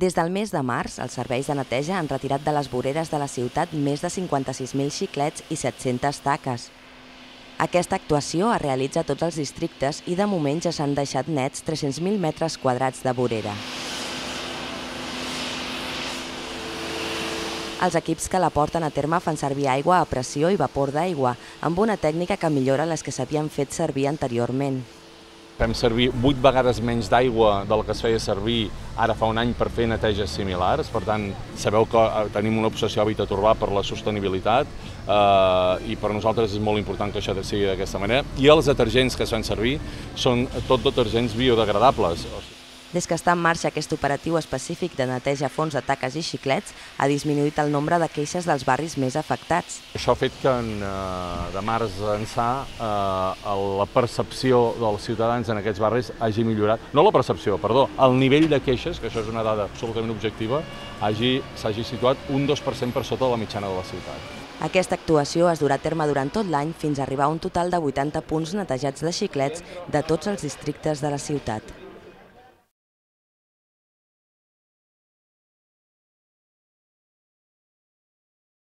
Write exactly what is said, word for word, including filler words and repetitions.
Des del mes de març, els serveis de neteja han retirat de les voreres de la ciutat més de cinquanta-sis mil xiclets i set-centes taques. Aquesta actuació es realitza a tots els districtes i de moment ja s'han deixat nets tres-cents mil metres quadrats de vorera. Els equips que la porten a terme fan servir aigua a pressió i vapor d'aigua, amb una tècnica que millora les que s'havien fet servir anteriorment. Fem servir vuit vegades menys d'aigua del que es feia servir ara fa un any per fer neteges similars. Per tant, sabeu que tenim una obsessió a Habitat Urbà per la sostenibilitat eh, i per nosaltres és molt important que això sigui d'aquesta manera. I els detergents que es fan servir són tot detergents biodegradables. Des que està en marxa aquest operatiu específic de neteja a fons de taques i xiclets, ha disminuït el nombre de queixes dels barris més afectats. Això ha fet que en, eh, de març ençà eh, la percepció dels ciutadans en aquests barris hagi millorat. No la percepció, perdó, el nivell de queixes, que això és una dada absolutament objectiva, s'hagi situat un dos per cent per sota de la mitjana de la ciutat. Aquesta actuació es durà a terme durant tot l'any fins a arribar a un total de vuitanta punts netejats de xiclets de tots els districtes de la ciutat.